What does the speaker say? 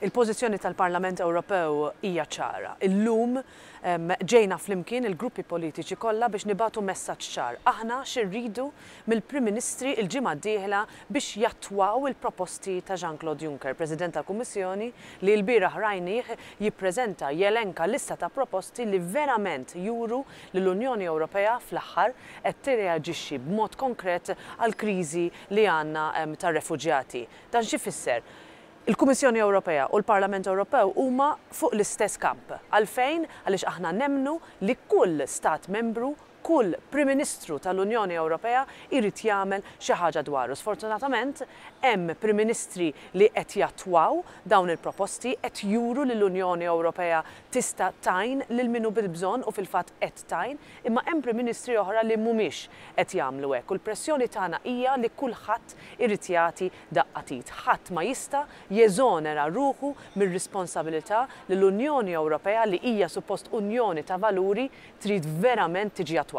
Il-pożizzjoni tal-Parlament Ewropew hija ċara. Illum ġejna flimkien il-gruppi politiċi kollha biex nibagħtu messaġġ ċar. Aħna xi rridu mill-Prim Ministri l-ġimgħa d-dieħla biex jattwaw il-proposti ta' Jean-Claude Juncker, President tal-Kummissjoni li lbieraħ rajnih jippreżenta, jelenka lista ta' proposti li verament juru li l-Unjoni Ewropea fl-aħħar qed tirreaġixxi b'mod konkret għall-kriżi li għandna tar-refuġjati. Dan x'ifisser? Il-Kummissjoni Ewropea u l-Parlament Ewropew huma fuq l-istess kamp. Għalfejn? Għaliex aħna nemmnu li kull stat membru, kull Prim Ministru tal-Unjoni Ewropea jrid jagħmel xi ħaġa dwaru. Sfortunatament hemm Prim Ministri li qed jattwaw dawn il-proposti, qed juru li l-Unjoni Ewropea tista' tgħin lil min hu bil-bżonn u fil-fatt qed tgħin, imma hemm Prim Ministri oħra li mhumiex qed jagħmlu hekk. U l-pressjoni tagħna hija li kulħadd irid jagħti daqqa t'id. Ħadd ma jista' jeżonera ruħu mir-responsabilità li l-Unjoni Ewropea, li hija suppost unjoni ta' valuri, trid verament tiġi attwata.